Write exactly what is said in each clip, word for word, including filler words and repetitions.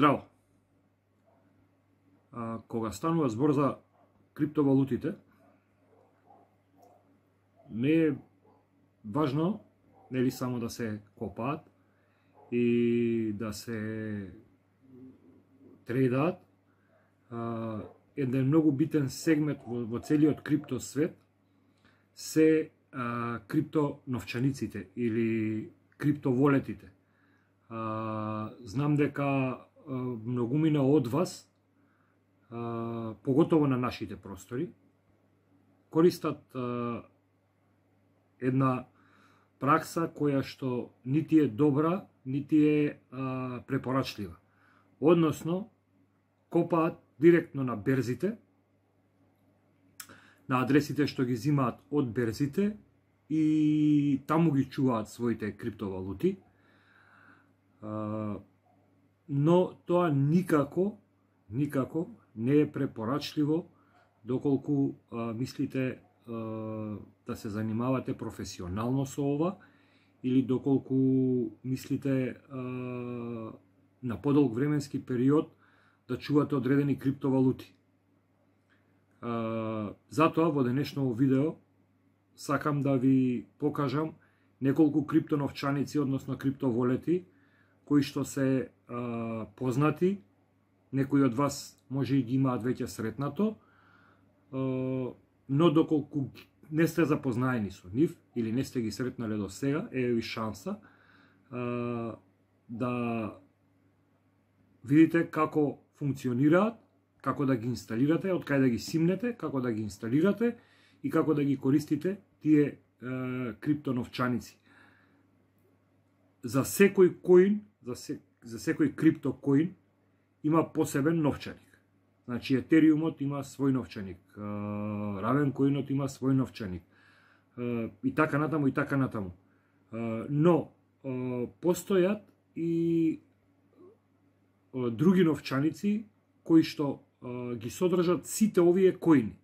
Здраво! А, кога станува збор за криптовалутите, не е важно нели само да се копаат и да се трейдаат. А, еден многу битен сегмент во, во целиот крипто свет се а, криптоновчаниците или криптоволетите. А, знам дека а, многумина од вас, а, поготово на нашите простори, користат а, една пракса која што нити е добра, нити е а, препорачлива. Односно, копаат директно на берзите, на адресите што ги зимаат од берзите и таму ги чуваат своите криптовалути. А, но тоа никако, никако не е препорачливо доколку а, мислите а, да се занимавате професионално со ова или доколку мислите а, на подолг временски период да чувате одредени криптовалути. А, затоа во денешното видео сакам да ви покажам неколку криптоновчаници, односно криптоволети, кои што се а, познати, некои од вас може и ги имаат веќе сретнато, а, но доколку не сте запознаени со нив или не сте ги сретнале до сега, е ви шанса а, да видите како функционираат, како да ги инсталирате, од кај да ги симнете, како да ги инсталирате и како да ги користите тие е, криптоновчаници. За секој коин, за, се, за секој криптокоин има посебен новчаник. Значи Етериумот има свој новчаник, Равенкоинот има свој новчаник и така натаму и така натаму. Но постојат и други новчаници кои што ги содржат сите овие коини.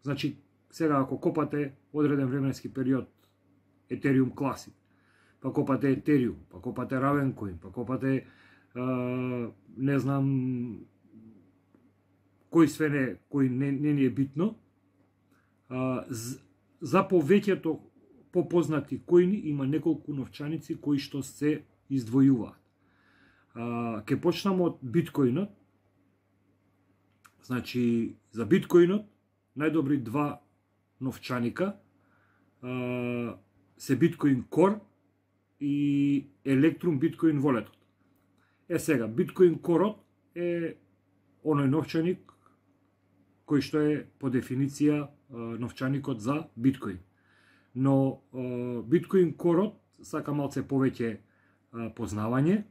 Значи, сега ако копате одреден временски период Ethereum Classic, па копате Ethereum, па копате Ravencoin, па копате а, не знам кој све не, кој не, не ни е битно, а, за повеќето попознати коини има неколку новчаници кои што се издвојуваат. А, ке почнам од биткоинот. Значи, за биткоинот најдобри два новчаника а, се Bitcoin Core и Electrum Bitcoin Walletот. Е сега, Bitcoin Core е оној новчаник кој што е по дефиниција новчаникот за биткоин. Но Bitcoin Core сака малце повеќе познавање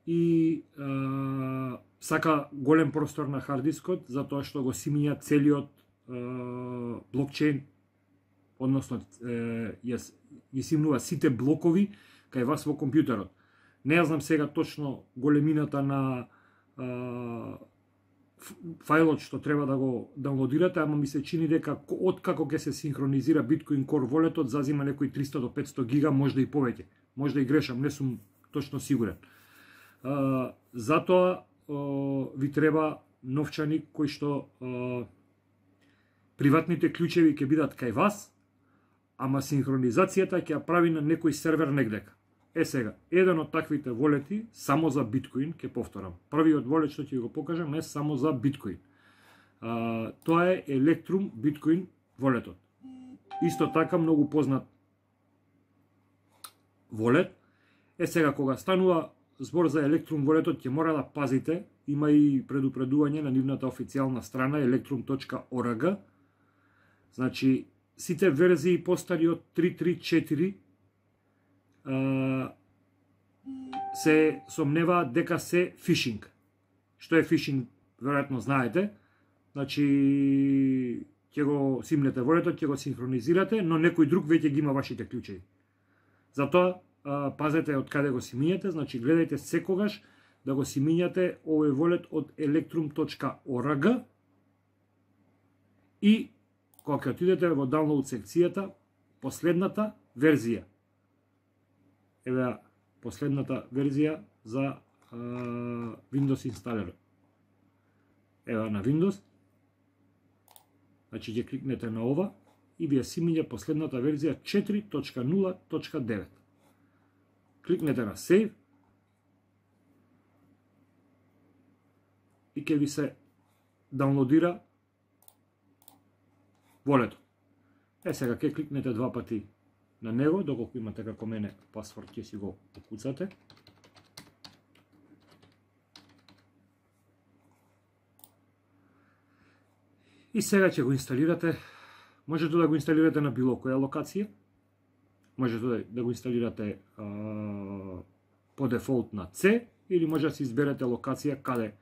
и а, сака голем простор на хардискот, затоа што го симиња целиот а, блокчейн, односно ја симнува сите блокови кај вас во компјутерот. Не ја знам сега точно големината на а, фајлот што треба да го даунлодирате, ама ми се чини дека од како ќе се синхронизира Bitcoin Core Walletот зазима некои триста до петсто гига, можда и повеќе. Можда и грешам, не сум точно сигурен. Uh, затоа uh, ви треба новчаник кој што uh, приватните клучеви ќе бидат кај вас, ама синхронизацијата ќе ја прави на некој сервер негдека. Е сега, еден од таквите волети само за биткоин, ќе повторам. Првиот волет што ќе го покажам е само за биткоин. Uh, тоа е Electrum Bitcoin волетот. Исто така многу познат волет. Е сега, кога станува збор за Electrum волетот, ќе мора да пазите, има и предупредување на нивната официјална страна electrum точка org. Значи, сите верзии постари од три точка три точка четири а, се сомневаат дека се фишинг. Што е фишинг, веројатно знаете. Значи, ќе го симнете волетот, ќе го синхронизирате, но некој друг веќе ги има вашите клучеви. Затоа, пазете од каде го симињате, значи гледајте секогаш да го симињате овој волет од electrum точка org и кога ќе отидете во download секцијата, последната верзија. Еве последната верзија за Windows инсталер. Ева на Windows. Значи ќе кликнете на ова и вие си миѓа последната верзија четири точка нула точка девет. Кликнете на Save и ќе ви се даунлодира волето. Е, сега ќе кликнете два пати на него, доколку имате како мене пасворд, ќе си го покуцате. И сега ќе го инсталирате. Можете да го инсталирате на било која локација. Можете да го инсталирате а, по дефолт на C, или може да си изберете локација каде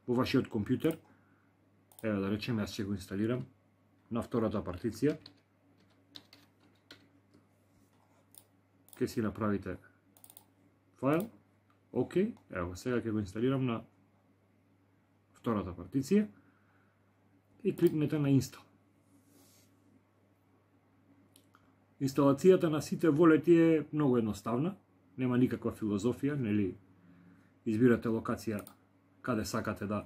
во вашиот компјутер. Ева да речеме, јас ќе го инсталирам на втората партиција. Ке си направите файл. Океј, ево сега ќе го инсталирам на втората партиција и кликнете на инстал. Инсталацијата на сите волети е многу едноставна, нема никаква филозофија, нели избирате локација каде сакате да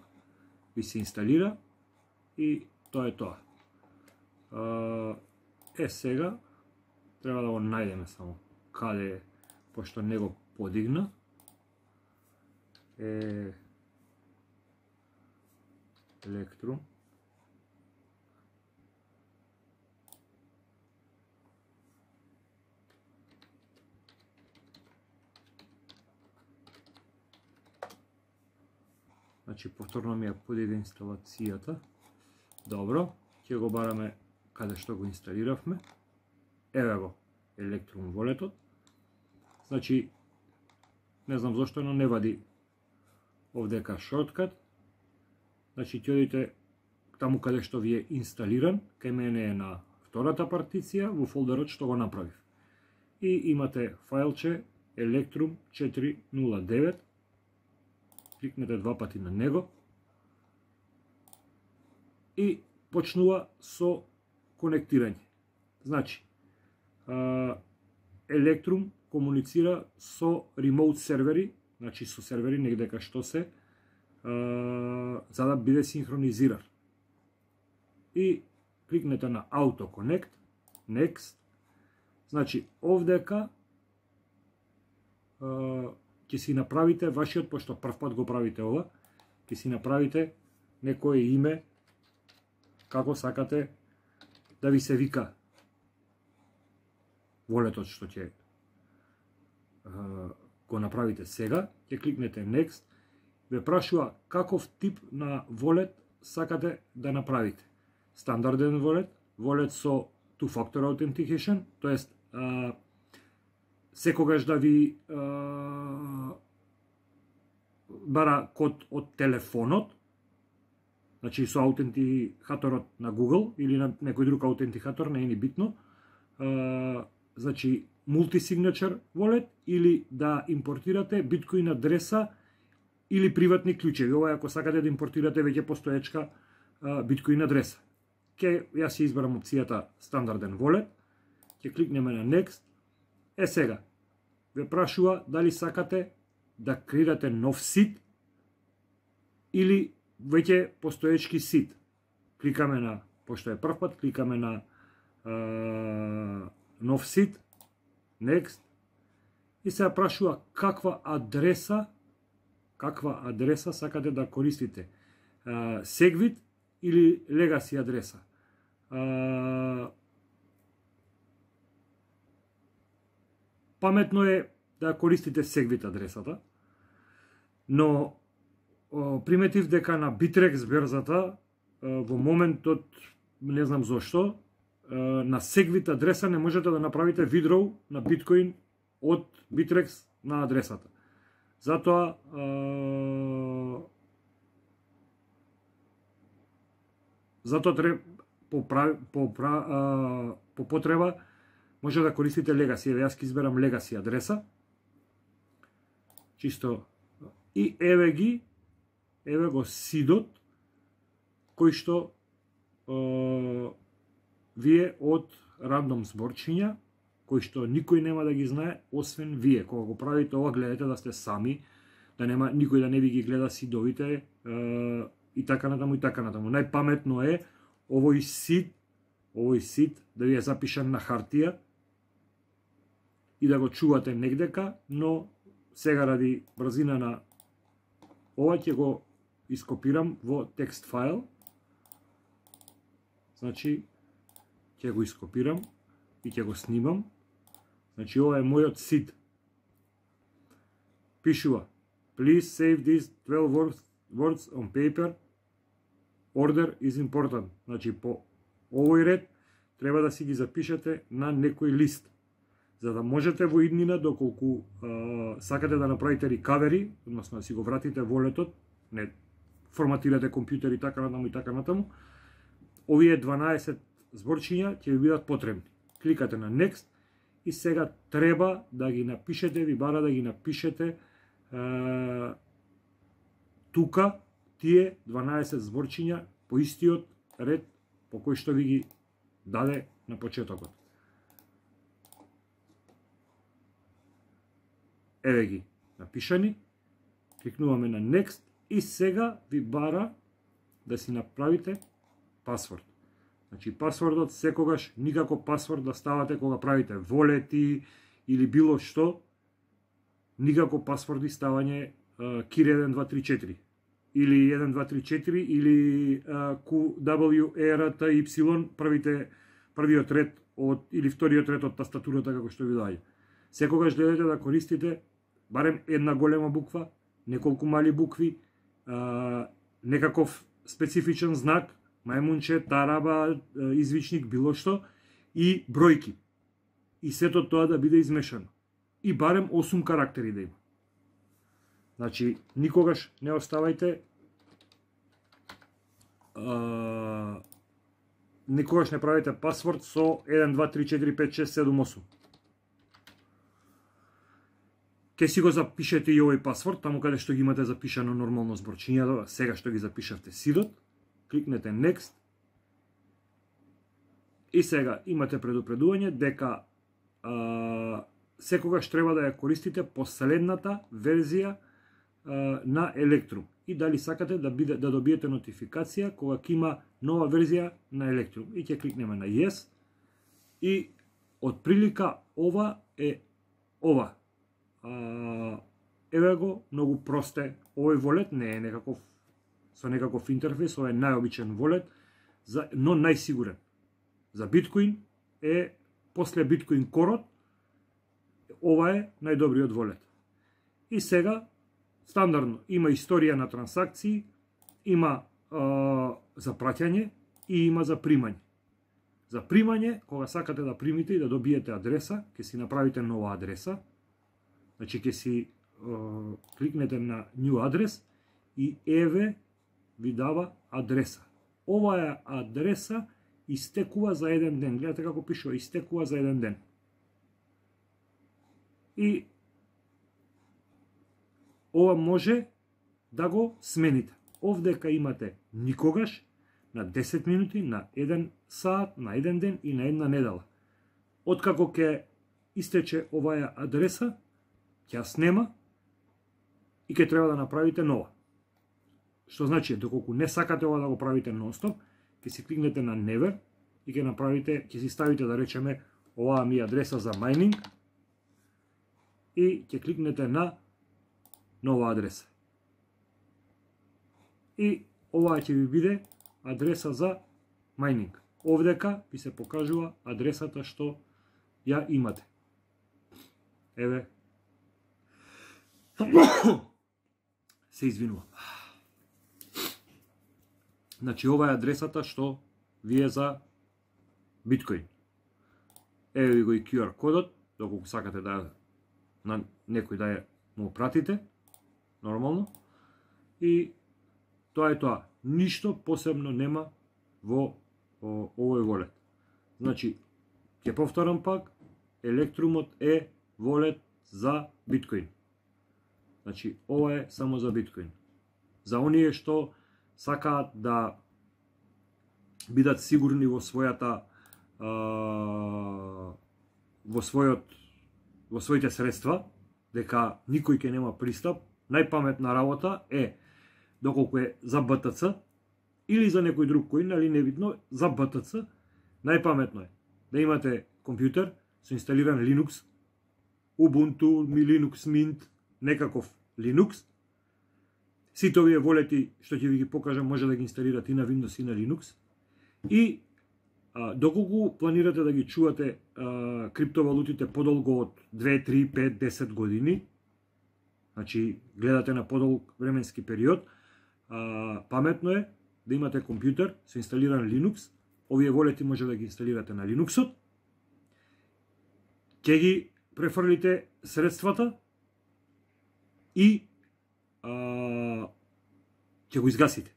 ви се инсталира и тоа е тоа. Е, сега треба да го најдеме само каде е, пошто не го подигна. Е, Electrum. Значи, повторно ми ја подига инсталацијата. Добро, ќе го бараме каде што го инсталиравме. Еве го, Electrum волетот. Значи, не знам зошто, но не вади овдека шорткат. Значи, ќе одите таму каде што ви е инсталиран, кај мене е на втората партиција, во фолдерот што го направив. И имате фајлче Electrum четири нула девет. Кликнете два пати на него и почнува со конектирање. Значи, Electrum комуницира со ремоут сервери, значи со сервери негде кај што се, за да биде синхронизиран. И кликнете на Auto Connect, Next. Значи, овдека ќе си направите вашиот, пошто прв пат го правите ова, ќе си направите некое име како сакате да ви се вика волетот што ќе го направите сега. Ќе кликнете Next. Ве прашува каков тип на волет сакате да направите. Стандарден волет, волет со two-factor authentication, тоест секогаш да ви а, бара код од телефонот, значи со аутентихаторот на Google или на некој друг аутентихатор, не е ни битно, а, значи multi-signature wallet, или да импортирате биткоин адреса или приватни клучеви. Ова ако сакате да импортирате веќе постоечка биткоин адреса. Ке јас ќе изберам опцијата стандарден wallet, ќе кликнеме на Next. Е, сега ве прашува дали сакате да креирате нов сит или веќе постоечки сит. Кликаме на, пошто е прв пат, кликаме на а, нов сит, Next, и се прашува каква адреса, каква адреса сакате да користите. А, Segwit или Legacy адреса. А, Паметно е да користите Segwit адресата, но приметив дека на Bittrex берзата во моментот, не знам зошто, на Segwit адреса не можете да направите withdraw на биткоин од Bittrex на адресата. Затоа затоа треба по, по, по потреба може да користите Legacy. Еве јас ќе изберам Legacy адреса. Чисто. И еве ги, еве го сидот, кој што е, вие од рандом зборчиња, кој што никој нема да ги знае, освен вие. Кога го правите ова, гледате да сте сами, да нема никој да не ви ги гледа сидовите е, и така натаму и така натаму. Најпаметно е овој сид, овој сид да ви е запишан на хартија и да го чувате негдека, но сега ради брзина на ова ќе го ископирам во текст файл. Значи ќе го ископирам и ќе го снимам. Значи ова е мојот сид. Пишува: Please save these twelve words, words on paper. Order is important. Значи по овој ред треба да си ги запишете на некој лист, за да можете во иднина, доколку а, сакате да направите рекавери, односно да си го вратите волетот, не форматирате компјутер и така натаму и така натаму, овие дванаесет зборчиња ќе ви бидат потребни. Кликате на Next и сега треба да ги напишете, ви бара да ги напишете е, тука тие дванаесет зборчиња по истиот ред по кој што ви ги даде на почетокот. Еве ги напишани, кликнуваме на Next и сега ви бара да си направите пасворд. Значи пасвордот секогаш никако пасворд да ставате кога правите волети или било што, никако пасворди ставање кир еден два три четири или еден два три четири или Q W R T Y, првите првиот ред од или вториот ред од тастатурата како што ви даде. Секогаш гледате да користите барем една голема буква, неколку мали букви, а, некаков специфичен знак, мајмунче, тараба, извичник, било што, и бројки. И сето тоа да биде измешано. И барем осум карактери да има. Значи, никогаш не оставајте а, никогаш не правите пасворд со еден два три четири пет шест седум осум. Ке си го запишете и овој пасворд, таму каде што ги имате запишано нормално зборчињата, сега што ги запишавте сидот, кликнете Next и сега имате предупредување дека а, секогаш треба да ја користите последната верзија а, на Electrum и дали сакате да биде да добиете нотификација кога ќе има нова верзија на Electrum. И ќе кликнеме на Yes и од прилика ова е ова. А, еве го, многу просте. Овој волет не е некаков со некаков интерфейс, ова е најобичен волет, за, но најсигурен. За биткоин е после биткоин корот, ова е најдобриот волет. И сега стандардно има историја на трансакции, има а, за праќање и има за примање. За примање, кога сакате да примите и да добиете адреса, ќе си направите нова адреса. Значи ќе си uh, кликнете на New Address и еве ви дава адреса. Оваа адреса истекува за еден ден. Гледате како пишува, истекува за еден ден. И ова може да го смените. Овдека имате никогаш, на десет минути, на еден саат, на еден ден и на една недела. Откако ќе истече оваа адреса, ќе ја снема и ќе треба да направите нова. Што значи, доколку не сакате ова да го правите нонстоп, ќе си кликнете на Never и ќе направите, ќе си ставите да речеме оваа ми адреса за майнинг и ќе кликнете на нова адреса. И оваа ќе ви биде адреса за майнинг. Овдека ви се покажува адресата што ја имате. Еве. Се извинувам. Значи, ова е адресата што ви е за биткоин. Еве ви го и Q R кодот, доколку сакате да на некој да ја му пратите, нормално. И тоа е тоа. Ништо посебно нема во о, овој волет. Значи, ќе повторам пак, Electrumот е волет за биткоин. Значи, ова е само за биткоин. За оние што сакаат да бидат сигурни во својата а, во својот во своите средства, дека никој ќе нема пристап, најпаметна работа е, доколку е за Б Т Ц или за некој друг коин, али небитно, за Б Т Ц, најпаметно е да имате компјутер со инсталиран Linux, Ubuntu, Linux Mint, некаков Linux. Сите овие волети што ќе ви ги покажам може да ги инсталирате и на Windows и на Linux. И а, доколку планирате да ги чувате а, криптовалутите подолго од две, три, пет, десет години, значи гледате на подолг временски период, а, паметно е да имате компјутер со инсталиран Linux. Овие волети може да ги инсталирате на Linuxот. Ќе ги префрлите средствата и а, ќе го изгасите.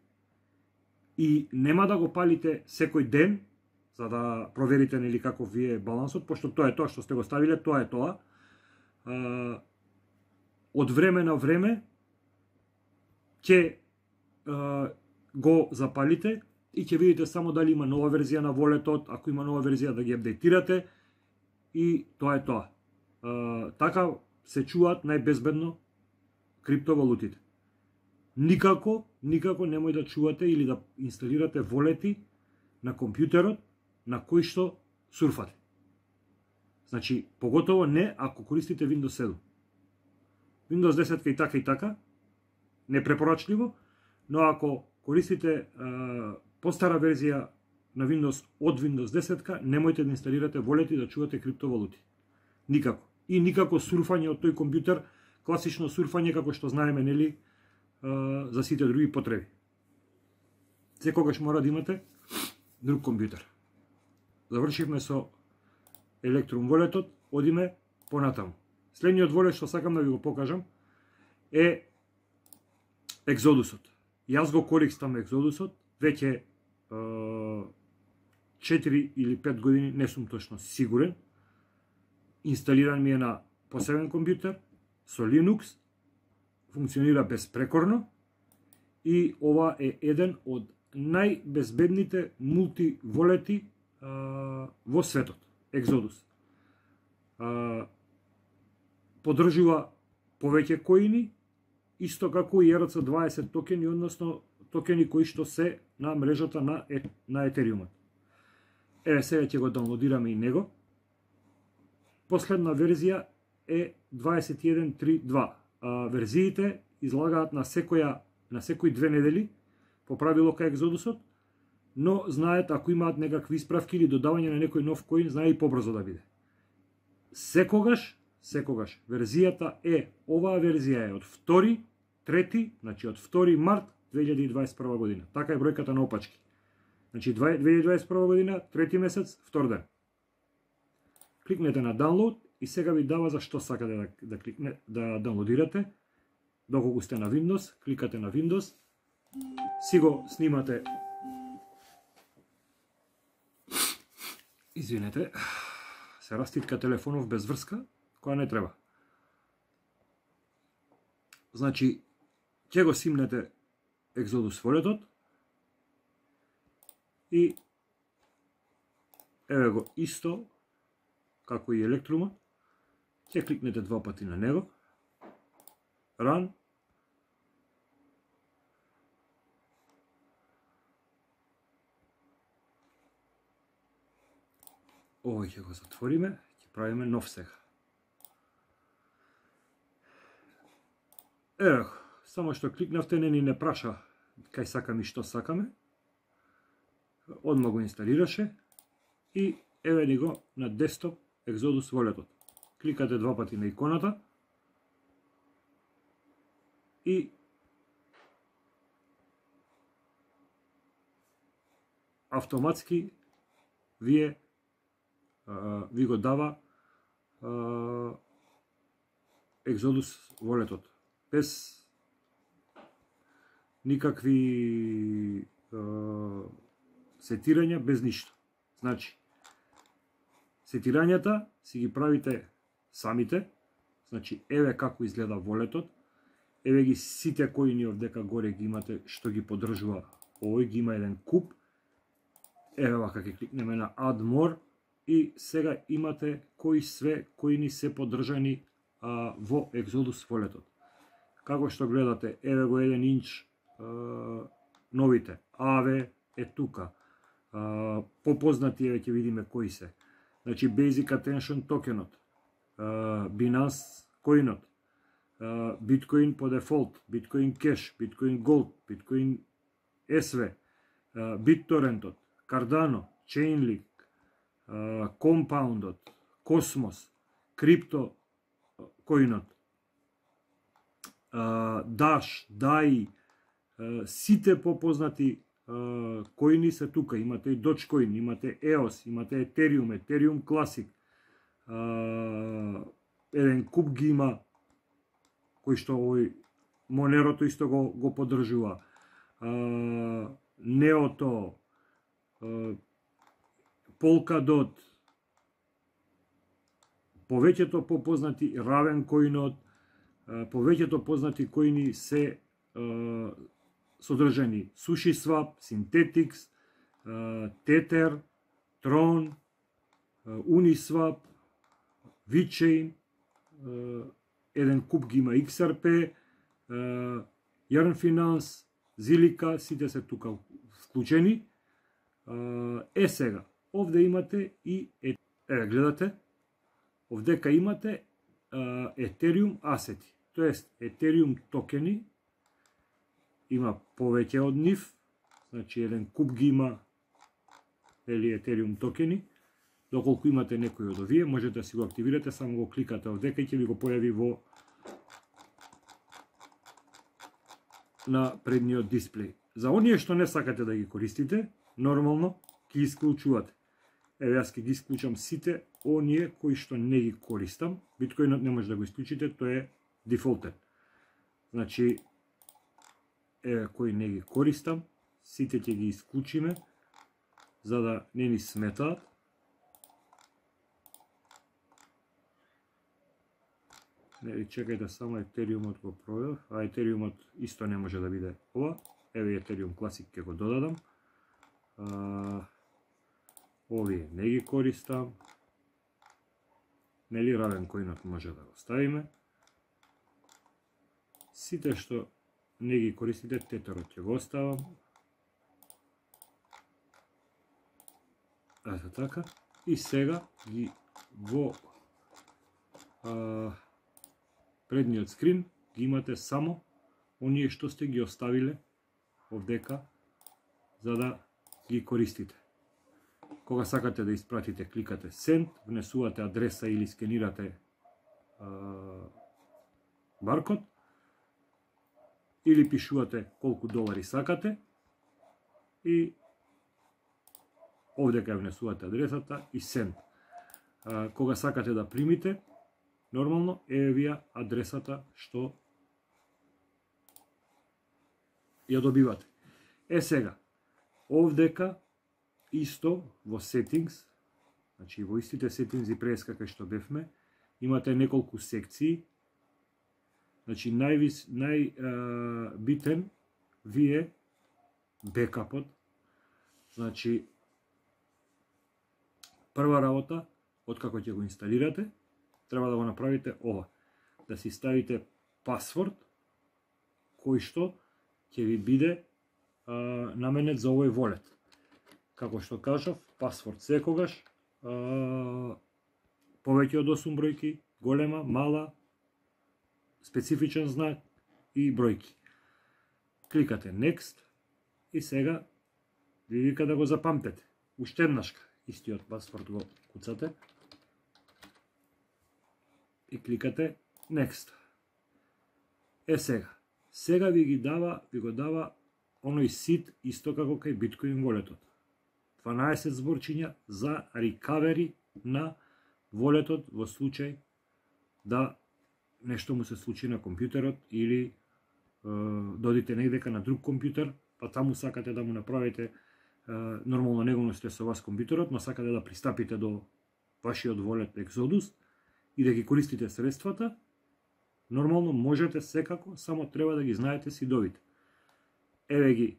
И нема да го палите секој ден, за да проверите нели каков ви е балансот, пошто тоа е тоа што сте го ставиле, тоа е тоа. А, од време на време ќе а, го запалите и ќе видите само дали има нова верзија на волетот, ако има нова верзија да ги апдейтирате и тоа е тоа. А, така се чуваат најбезбедно криптовалутите. Никако, никако немој да чувате или да инсталирате волети на компјутерот на кој што сурфате. Значи, поготово не ако користите Windows седум. Windows десет и така и така, непрепорачливо, но ако користите а, постара верзија на Windows од Windows десет, немојте да инсталирате волети да чувате криптовалути. Никако. И никако сурфање од тој компјутер, класично сурфање како што знаеме, нели, а, за сите други потреби. Секогаш мора да имате друг компјутер. Завршивме со Electrum волетот, одиме понатаму. Следниот волет што сакам да ви го покажам е Exodusот. Јас го користам Exodusот веќе четири или пет години, не сум точно сигурен. Инсталиран ми е на посебен компјутер со Linux, функционира безпрекорно и ова е еден од најбезбедните мултиволети а, во светот, Exodus. А, подржува повеќе коини, исто како и Р Ц дваесет токени, односно токени кои што се на мрежата на, е, на Ethereum. Еве сега ќе го даунлодираме и него. Последна верзија е дваесет и еден точка три точка два. А, верзиите излагаат на секоја на секои две недели по правило кај Exodusот, но знаат ако имаат некакви исправки или додавање на некој нов коин, знае и побрзо да биде. Секогаш, секогаш верзијата е, оваа верзија е од втори, трети, значи од втори март две илјади и дваесет и прва година. Така е бројката на опачки. Значи две илјади и дваесет и прва година, трети месец, втор ден. Кликнете на download и сега ви дава за што сакате да, да кликне да даунлодирате. Доколку сте на Windows, кликате на Windows, си го снимате. Извинете, се раститка телефонов без врска, која не треба. Значи, ќе го симнете Exodus волетот и еве го исто како и Electrumот, ќе кликнете два пати на него, Run, овој ќе го затвориме, ќе правиме нов сега. Ево, само што кликнавте, не ни не праша кај сакаме и што сакаме. Одма го инсталираше и еве ни го на десктоп Exodus волетот. Кликате два пати на иконата и автоматски вие Uh, ви го дава uh, Exodus волетот. Без никакви uh, сетирања, без ништо. Значи, сетирањата си ги правите самите. Значи, еве како изгледа волетот. Еве ги сите коини овдека горе ги имате што ги поддржува. Овој ги има еден куп. Еве вака ќе кликнеме на Add More. И сега имате кои све коини се поддржани а, во Exodus волетот. Како што гледате, еве го еден инч а, новите. Аве е тука. А, попознати еве ќе видиме кои се. Значи Basic Attention токенот, а, Binance коинот, а, Bitcoin по дефолт, Bitcoin Cash, Bitcoin Gold, Bitcoin ес ви, а, BitTorrentот, Cardano, Chainlink, а, Compoundот, Cosmos, Crypto коинот, Dash, дей ай, сите попознати коини се тука. Имате и Dogecoin, имате и о ес, имате Ethereum, Ethereum Classic, еден куп ги има кои што овој Monero исто го, го поддржува. Неото, Polkadot, повеќето попознати Ravencoinот, повеќето познати коини се uh, содржани SushiSwap, Synthetix, uh, Tether, Tron, uh, Uniswap, VeChain, uh, еден куп ги има икс ар пи, uh, Yarn Finance, Zilliqa, сите се тука вклучени. Uh, е сега, овде имате и е, е гледате, овдека имате uh, Ethereum асети. Тоест, Ethereum токени, има повеќе од нив, значи еден куп ги има или Ethereum токени. Доколку имате некој од овие, можете да си го активирате, само го кликате овдека и ќе ви го појави во на предниот дисплеј. За оние што не сакате да ги користите, нормално ќе исклучувате. Еве јас ќе ги исклучам сите оние кои што не ги користам. Биткоинот не може да го исклучите, тој е дефолтен. Значи, еве кои не ги користам, сите ќе ги исклучиме, за да не ни сметаат. Нели, чекајте само Ethereumот го проверав, а Ethereumот исто не може да биде ова. Еве Ethereum Classic ќе го додадам. А, овие не ги користам. Нели, Ravencoinот може да го ставиме. Сите што не ги користите, Tetherот ќе го оставам. Ето така. И сега ги во а, предниот скрин ги имате само оние што сте ги оставиле овдека за да ги користите. Кога сакате да испратите, кликате Send, внесувате адреса или скенирате а, баркод, или пишувате колку долари сакате и овдека внесувате адресата и Send. А, кога сакате да примите, нормално е вија адресата што ја добивате. Е сега, овдека исто во Settings, значи во истите Settings и прес како што бевме, имате неколку секции. Значи највис, најбитен ви е бекапот. Значи прва работа, откако ќе го инсталирате, треба да го направите ова. Да си ставите пасворд кој што ќе ви биде а, наменет за овој волет. Како што кажав, пасворд секогаш а, повеќе од осум бројки, голема, мала, специфичен знак и бројки. Кликате Next и сега ви вика да го запамтете. Уште еднашка истиот пасворд го куцате и кликате Next. Е сега, сега ви ги дава, ви го дава оној сит исто како кај Bitcoin волетот. дванаесет зборчиња за recovery на волетот во случај да нешто му се случи на компјутерот или е, додите негдека на друг компјутер, па таму сакате да му направите е, нормално него не сте со вас компјутерот, но сакате да пристапите до вашиот волет Exodus и да ги користите средствата, нормално можете секако, само треба да ги знаете сидовите. Еве ги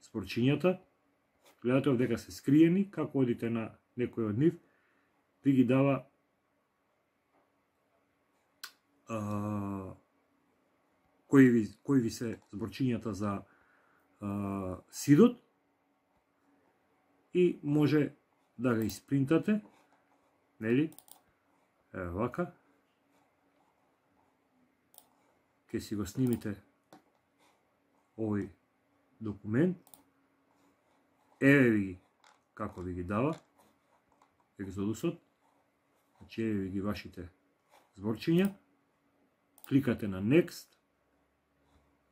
спорчињата, гледате овдека се скриени, како одите на некој од нив, ви ги дава а, кои ви, кои ви се зборчињата за а, сидот и може да го испринтате, нели? Еве вака. Ке си го снимите овој документ. Еве ви ги како ви ги дава Екзодусот. Значи еве ви ги вашите зборчиња. Кликате на Next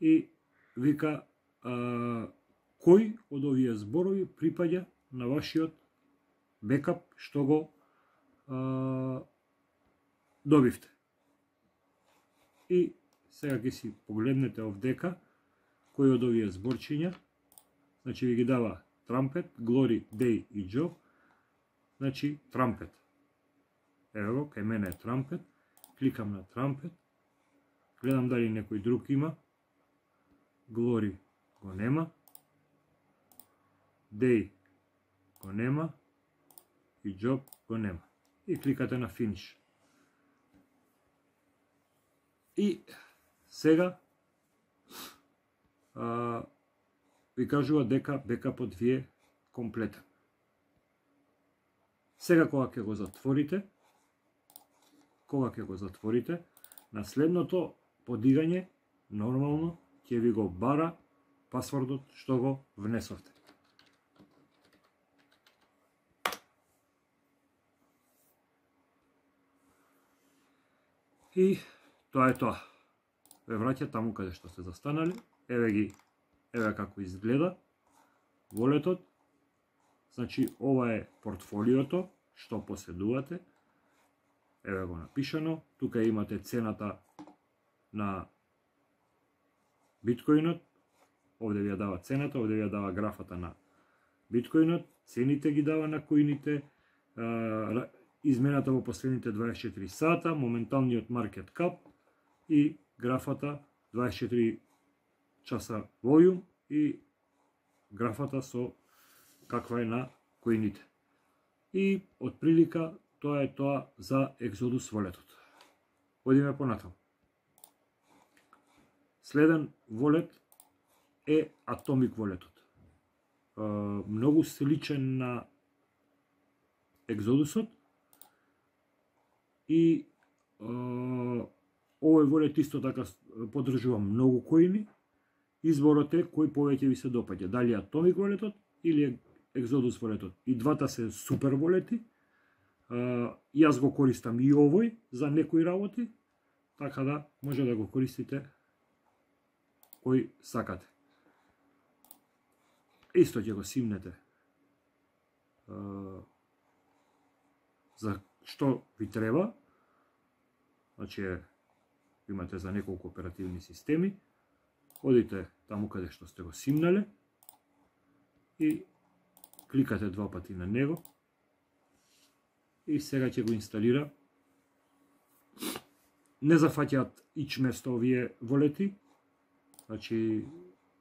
и вика а, кој од овие зборови припаѓа на вашиот бекап што го а, добивте. И сега ќе си погледнете овдека кој од овие зборчиња, значи ви ги дава Trumpet, Glory, Day и Job, значи Trumpet. Ево, кај мене е Trumpet, кликам на Trumpet, гледам дали некој друг има, Glory го нема, Day го нема и Job го нема. И кликате на Finish. И сега а, ви кажува дека бекапот ви е комплетен. Сега кога ќе го затворите, кога ќе го затворите, на следното подигање нормално ќе ви го бара пасвордот што го внесовте. И тоа е тоа. Ве враќа таму каде што сте застанали. Еве ги, еве како изгледа волетот. Значи ова е портфолиото што поседувате. Еве го напишано. Тука имате цената на биткоинот. Овде ви ја дава цената, овде ви ја дава графата на биткоинот. Цените ги дава на коините. Измената во последните дваесет и четири сата, моменталниот маркет кап и графата дваесет и четири часа волјум и графата со каква е на коините. И од прилика тоа е тоа за Exodus волетот. Одиме понатаму. Следен волет е Atomic волетот. Многу сличен на Exodusот. И а, овој волет исто така поддржува многу коини. Изборот е кој повеќе ви се допаѓа, дали Atomic волетот или Exodus волетот. И двата се супер волети. А, јас го користам и овој за некои работи, така да може да го користите кој сакате. Исто ќе го симнете а, за што ви треба, значи имате за неколку оперативни системи, одите таму каде што сте го симнале и кликате два пати на него и сега ќе го инсталира. Не зафаќаат ич место овие волети, значи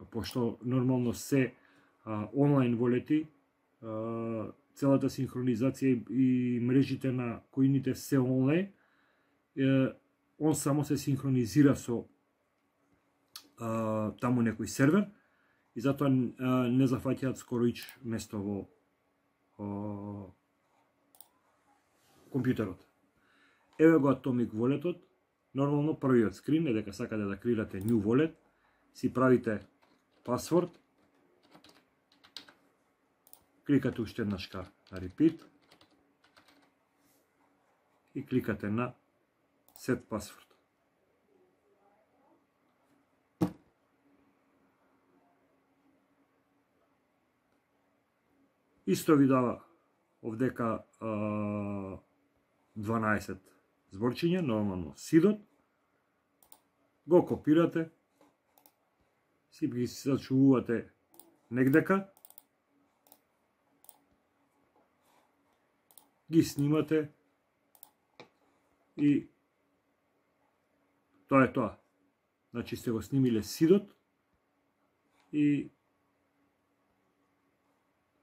пошто нормално се а, онлайн волети, а, целата синхронизација и мрежите на коините се онлайн, он само се синхронизира со а, таму некој сервер и затоа а, не зафаќаат скоро ич место во а, компјутерот. Еве го Atomic волетот. Нормално првиот скрин е дека сакате да креирате new wallet, си правите пасворд, кликате уште еднашка на repeat и кликате на set password. Исто ви дава овдека а, дванаесет зборчиња, нормално сидот, го копирате, си ги зачувувате негдека, ги снимате и тоа е тоа. Значи сте го снимиле сидот и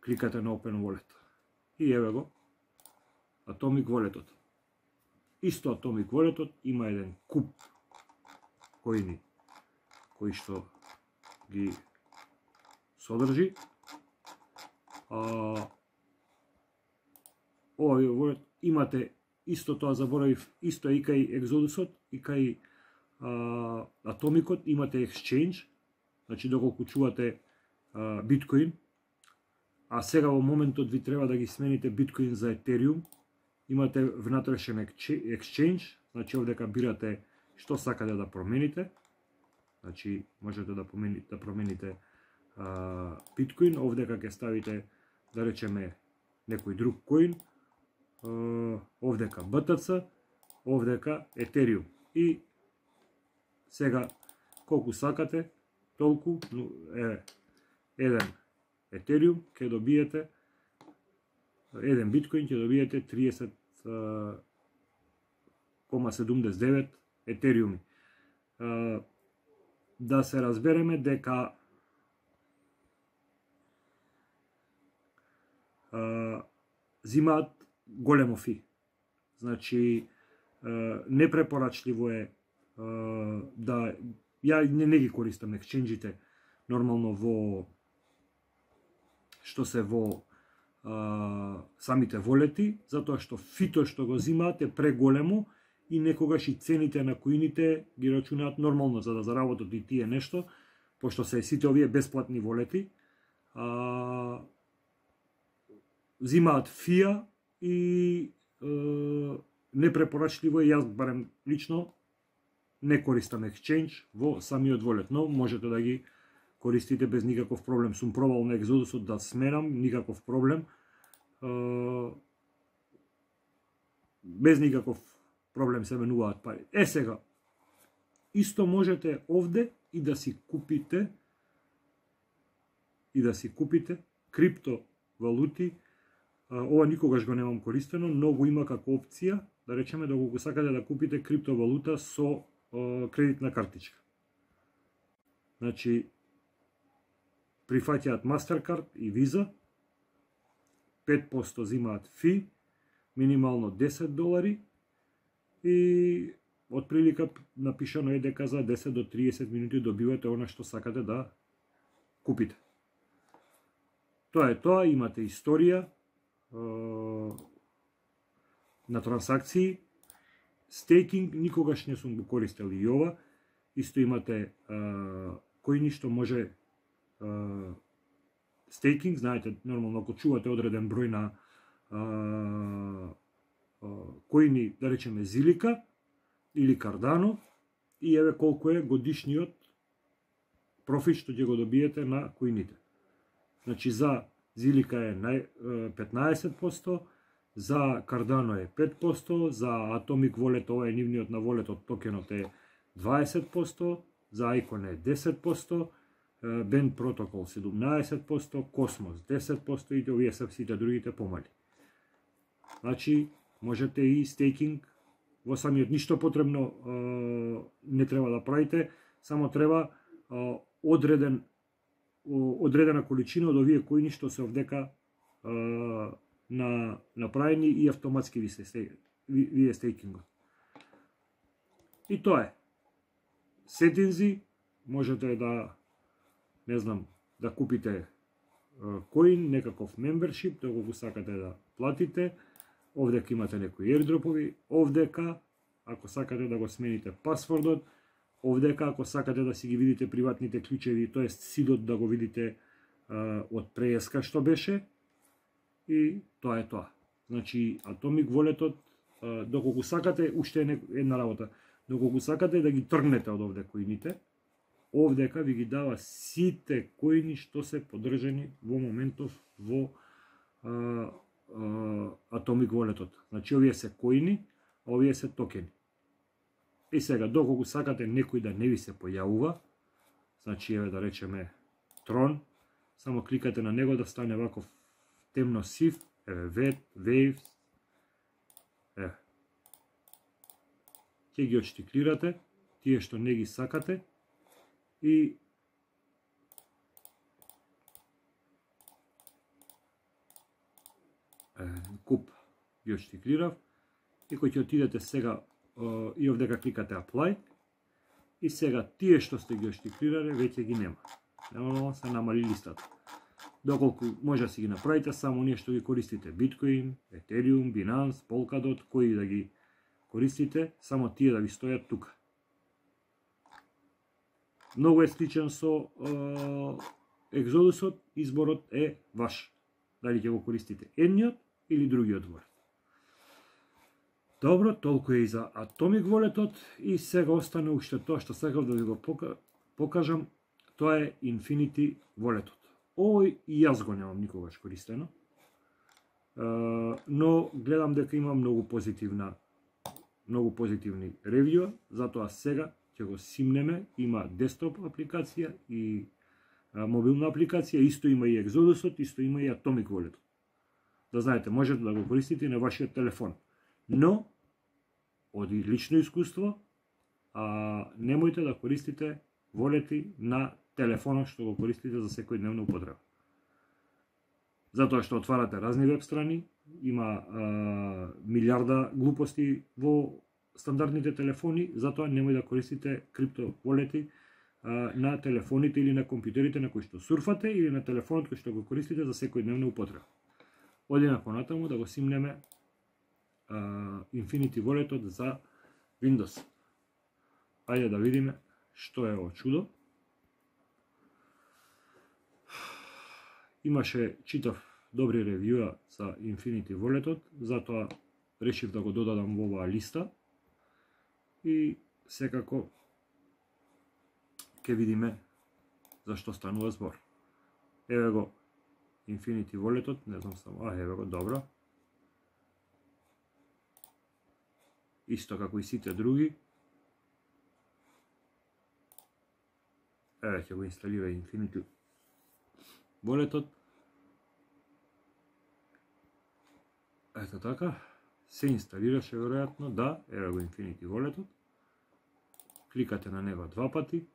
кликате на Open Wallet. И еве го Atomic волетот. Исто Atomic волетот има еден куп коини кои што ги содржи. А, овој wallet имате исто тоа, заборавив, исто и кај Exodusот и кај а, Atomicот имате exchange, значи доколку чувате а, биткоин, а сега во моментот ви треба да ги смените биткоин за Ethereum, имате внатрешен exchange, значи овдека бирате што сакате да промените, значи можете да промените, да промените а, биткоин, овдека ќе ставите, да речеме, некој друг коин, а, овдека би ти си, овдека Ethereum. И сега колку сакате, толку е еден Ethereum ќе добиете, еден биткоин ќе добиете триесет кома седумдесет и девет Ethereum. Да се разбереме дека зимаат големо фи. Значи непрепорачливо е да ја не, не ги користам ексченџите нормално во што се во а, самите волети, затоа што фито што го зимаат е преголемо и некогаш и цените на коините ги рачунаат нормално за да заработат и тие нешто, пошто се сите овие бесплатни волети, а, зимаат фија и а, непрепорачливо е, јас барем лично не користам exchange во самиот волет, но можете да ги користите без никаков проблем. Сум пробал на Exodusот да сменам, никаков проблем. Без никаков проблем се менуваат пари. Е сега, исто можете овде и да си купите и да си купите криптовалути. Ова никогаш го немам користено, но го има како опција, да речеме да го сакате да купите криптовалута со кредитна картичка. Значи, прифаќаат Mastercard и Visa, пет проценти зимаат фи, минимално десет долари и отприлика напишано е дека за десет до триесет минути добивате она што сакате да купите. Тоа е тоа, имате историја е, на трансакции. Стейкинг никогаш не сум го користел и ова. Исто имате а, коини што може а, стейкинг, знаете, нормално ако чувате одреден број на а, а, коини, да речеме Зилика или Cardano, и еве колку е годишниот профит што ќе го добиете на коините. Значи за Зилика е петнаесет проценти, за Cardano е пет проценти, за Atomic Wallet, ова е нивниот на волетот, токенот е дваесет проценти, за Icon е десет проценти, Bend Protocol седумнаесет проценти, Cosmos десет проценти и овие се сите другите помали. Значи, можете и стейкинг во самиот, ништо потребно не треба да правите, само треба одреден одредена количина од овие коини што се овдека на направени и автоматски ви се вие стейкингот. И тоа е. Сетинзи, можете да, не знам, да купите коин, некаков membership, доколку сакате да платите. Овдека имате некои airdropoви, овдека, ако сакате да го смените пасвордот, овдека, ако сакате да си ги видите приватните клучеви, тоест сидот да го видите а, од преска што беше, и тоа е тоа. Значи, Atomic Walletот, а, доколку сакате, уште е една работа, доколку сакате да ги тргнете од овде коините, овдека ви ги дава сите коини што се подржани во моментов во а, а, Atomic Walletот. Значи, овие се коини, а овие се токени. И сега, доколку сакате некој да не ви се појавува, значи, еве да речеме Tron, само кликате на него да стане ваков темно сив, еве Waves, еве. Ќе ги отштиклирате, тие што не ги сакате, и куп ги отштиклирав, и кој ќе отидете сега и овдека кликате Apply, И сега тие што сте ги оштифрирале веќе ги нема. Нормално се намали листата. Доколку може да си ги направите само ние што ги користите, Bitcoin, Ethereum, Binance, Polkadot, кои да ги користите, само тие да ви стојат тука. Многу е сличен со е, Exodus-от, изборот е ваш. Дали ќе го користите едниот или другиот wallet. Добро, толку е и за Atomic Wallet-от и сега остане уште тоа што сакав да ви го покажам, тоа е Infinity Wallet-от. Овој и јас го немам никогаш користено, но гледам дека има многу позитивна, многу позитивни ревјуа, затоа сега ќе го симнеме, има десктоп апликација и мобилна апликација, исто има и Exodus-от, исто има и Atomic Wallet-от. Да знаете, можете да го користите на вашиот телефон, но од лично искуство, а, немојте да користите волети на телефонот што го користите за секојдневна употреба. Затоа што отварате разни веб страни, има а, милиарда глупости во стандардните телефони, затоа немој да користите крипто волети а, на телефоните или на компјутерите на кои што сурфате или на телефонот кој што го користите за секојдневна употреба. Одиме понатаму да го симнеме uh, Infinity Wallet-от за Windows. Ајде да видиме што е ово чудо. Имаше, читав добри ревјуа за Infinity Wallet-от, затоа решив да го додадам во оваа листа и секако ќе видиме за што станува збор. Еве го Infinity Wallet-от, не знам само, а еве го, добро. Исто како и сите други. Еве ќе го инсталира Infinity Wallet-от. Ето така, се инсталираше веројатно, да, еве го Infinity Wallet-от. Кликате на него два пати.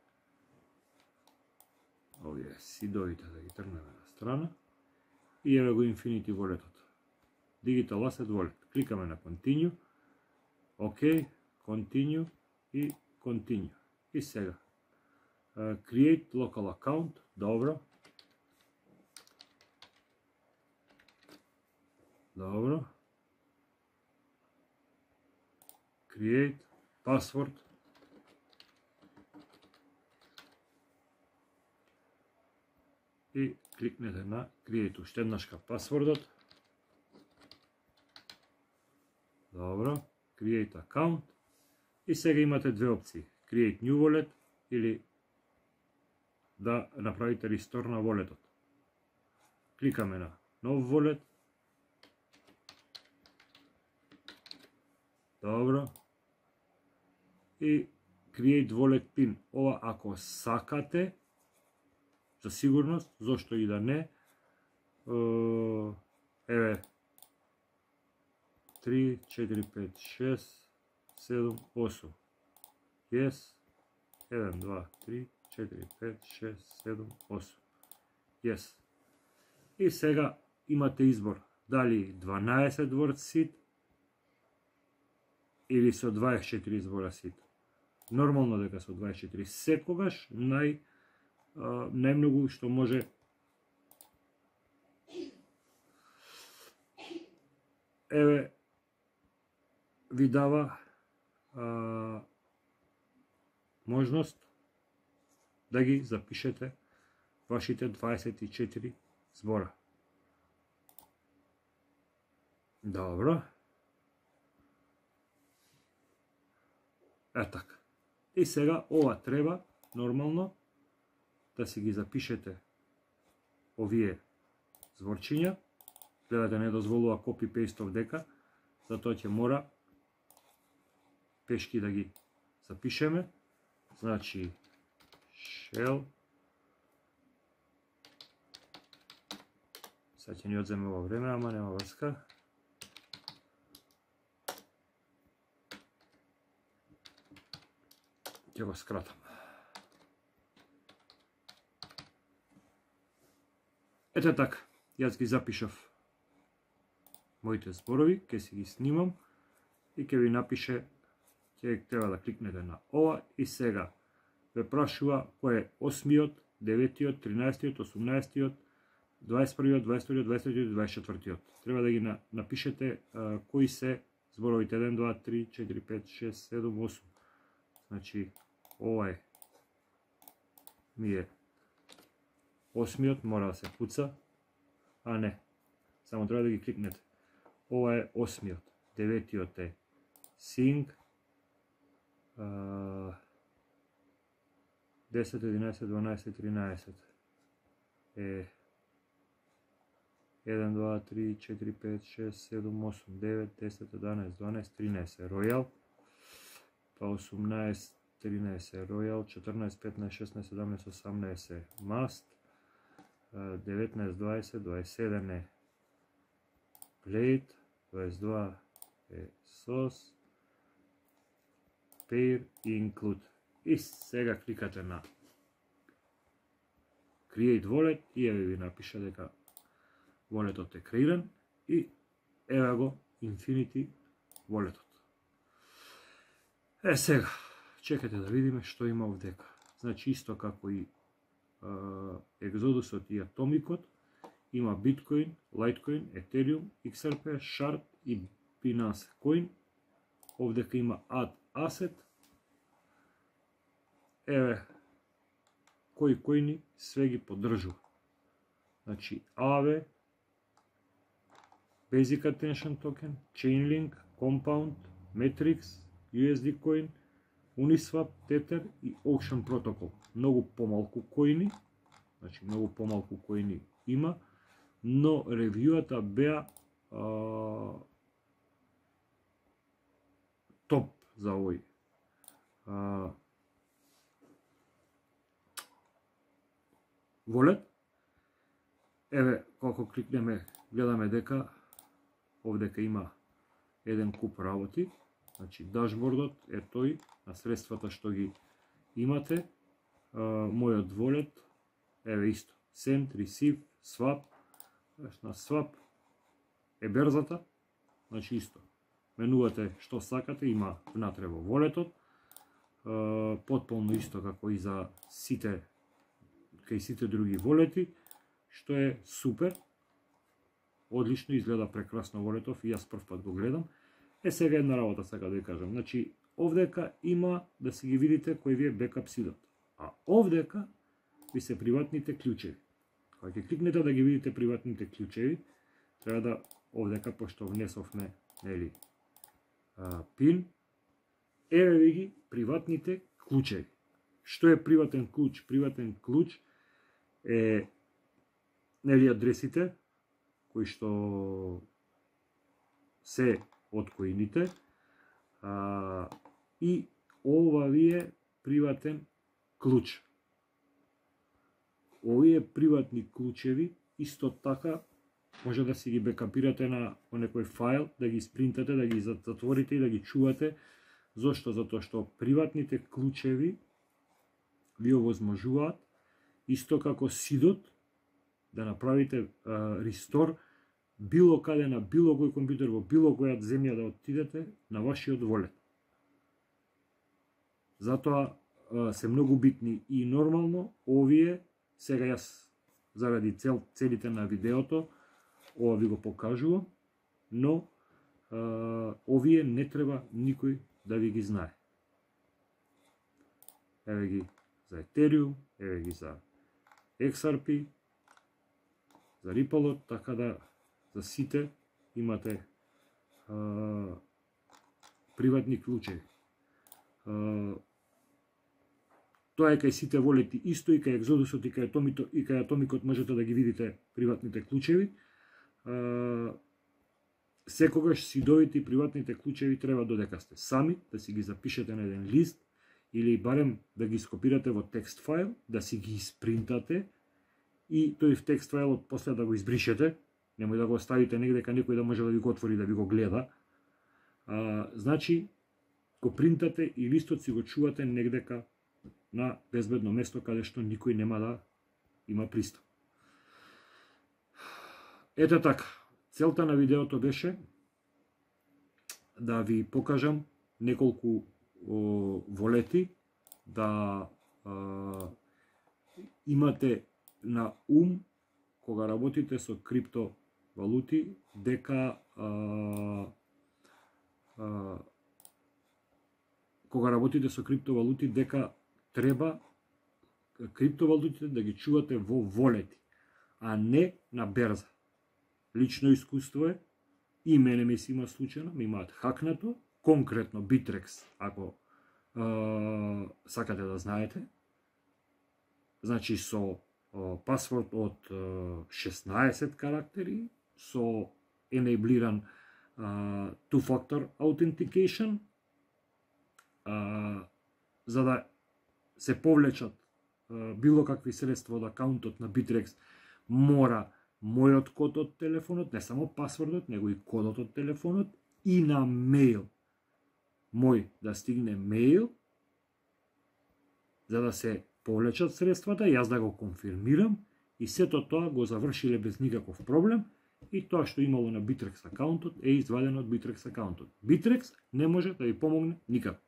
Овие сидовите да ги тргнеме на страна. И еве го Infinity Wallet-от. Digital Asset Wallet. Кликаме на Continue. OK, Continue и Continue. И сега. Uh, create Local Account. Добро. Добро. Create Password. И кликнете на Create уште еднашка пасвордот. Добро. Create Account. И сега имате две опции. Create New Wallet или да направите Restore на Wallet-от. Кликаме на нов Wallet. Добро. И Create Wallet Pin. Ова ако сакате, за сигурност, зошто и да не, еве, три, четири, пет, шест, седум, осум. Yes. еден, два, три, четири, пет, шест, седум, осум. Yes. И сега имате избор дали дванаесет word seed или со дваесет четири збора seed. Нормално дека со дваесет четири секогаш нај најмногу што може еве ви дава а, можност да ги запишете вашите дваесет и четири збора. Добро. Е така. И сега ова треба нормално да си ги запишете овие зборчиња. Гледате, не дозволува copy-paste дека, затоа ќе мора пешки да ги запишеме. Значи, shell. Сега ќе ни одземе во време, ама нема врска. Ќе го скратам. Ете така, јас ги запишав моите зборови, ќе си ги снимам и ќе ви напише, ќе треба да кликнете на ова и сега ве прашува кој е осмиот, деветиот, тринаесеттиот, осумнаесеттиот, дваесет и првиот, дваесет и вториот, дваесет и третиот и дваесет и четвртиот. Треба да ги напишете а, кои се зборовите еден, два, три, четири, пет, шест, седум, осум. Значи, ова е ми е осмиот, мора да се пуца, а не, само треба да ги кликнете. Ова е осмиот, деветиот е Sing, десет, единаесет, дванаесет, тринаесет е еден, два, три, четири, пет, шест, седум, осум, девет, десет, единаесет, дванаесет, тринаесет е Royal, па осумнаесет, тринаесет е Royal, четрнаесет, петнаесет, шеснаесет, седамнаесет, осамнаесет е Must, деветнаесет, дваесет, дваесет и седум е Plate, дваесет и два е Sauce, Pair и Include. И сега кликате на Create Wallet и еве ви напиша дека walletот е креиран и еве го Infinity Walletот. Е сега, чекате да видиме што има овдека. Значи исто како и Exodusот и Atomicот, има Bitcoin, Litecoin, Ethereum, икс ар пи, Shard и Binance Coin. Овдека има Add Asset. Еве кои коини све ги поддржува. Значи ей ви, Basic Attention Token, Chainlink, Compound, Matrix, ю ес ди Coin, Uniswap, Tether и Ocean Protocol. Многу помалку коини, значи многу помалку коини има, но ревјуата беа а, топ за овој а, wallet. Еве, како кликнеме, гледаме дека овдека има еден куп работи. Значи, дашбордот е тој на средствата што ги имате. А, мојот wallet, еве исто, Send, Receive, Swap. На Swap е берзата, значи исто. Менувате што сакате, има внатре во walletот. А, потполно исто како и за сите, кај сите други волети, што е супер. Одлично, изгледа прекрасно волетов и јас прв пат го гледам. Е, сега една работа сака да ви кажам. Значи, овдека има да си ги видите кој ви е бекап сидот. А овдека ви се приватните клучеви. Кога ќе кликнете да ги видите приватните клучеви, треба да овдека, пошто внесовме, нели, пин, еве ви ги приватните клучеви. Што е приватен клуч? Приватен клуч е, нели, адресите кои што се од коините, а, и ова ви е приватен клуч. Овие приватни клучеви исто така може да си ги бекапирате на некој файл, да ги спринтате, да ги затворите и да ги чувате. Зошто? Затоа што приватните клучеви ви овозможуваат исто како сидот да направите а, рестор било каде на било кој компјутер во било која земја да отидете на вашиот волет. Затоа а, се многу битни и нормално овие, сега јас заради цел, целите на видеото ова ви го покажувам, но а, овие не треба никој да ви ги знае. Еве ги за Ethereum, еве ги за икс ар пи, за Ripple, така да за сите имате а, приватни клучеви. А, Тоа е кај сите волети исто, и кај Exodusот и кај Atomicот и кај Atomicот можете да ги видите приватните клучеви. А, секогаш сидовите и приватните клучеви треба додека сте сами да си ги запишете на еден лист или барем да ги скопирате во текст файл, да си ги испринтате и тој в текст фајлот после да го избришете, немој да го оставите негде кај некој да може да ви го отвори, да ви го гледа. А, значи, го принтате и листот си го чувате негдека на безбедно место каде што никој нема да има пристап. Ете така, целта на видеото беше да ви покажам неколку о, волети, да а, имате на ум кога работите со криптовалути дека а, а, кога работите со криптовалути дека треба криптовалутите да ги чувате во волети, а не на берза. Лично искуство е, и мене ми се има случајно, ми имаат хакнато, конкретно Bittrex, ако е, сакате да знаете. Значи со е, пасворд од е, шеснаесет карактери, со енеблиран е, two-factor authentication, е, за да се повлечат е, било какви средства од акаунтот на Bittrex, мора мојот код од телефонот, не само пасвордот, него и кодот од телефонот, и на мејл мој да стигне мејл, за да се повлечат средствата, јас да го конфирмирам, и сето тоа го завршиле без никаков проблем, и тоа што имало на Bittrex акаунтот е извадено од Bittrex акаунтот. Bittrex не може да ви помогне никако.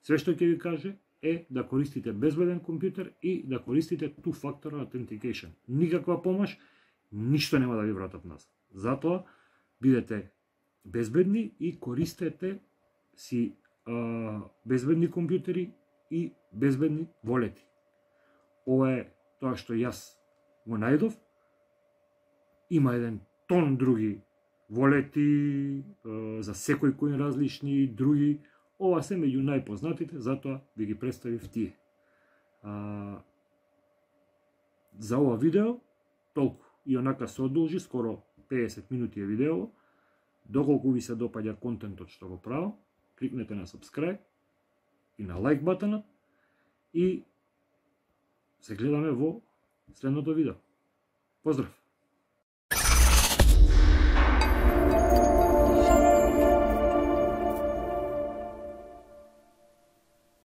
Све што ќе ви каже е да користите безбеден компјутер и да користите two-factor authentication. Никаква помош, ништо нема да ви вратат назад. Затоа бидете безбедни и користете си а, безбедни компјутери и безбедни волети. Ова е тоа што јас го најдов. Има еден тон други волети, а, за секој кој различни други. Ова се меѓу најпознатите, затоа ви ги представив тие. А, за ова видео толку. И онака се одолжи, скоро педесет минути е видео. Доколку ви се допаѓа контентот што го правам, кликнете на subscribe и на лайк батанот и се гледаме во следното видео. Поздрав!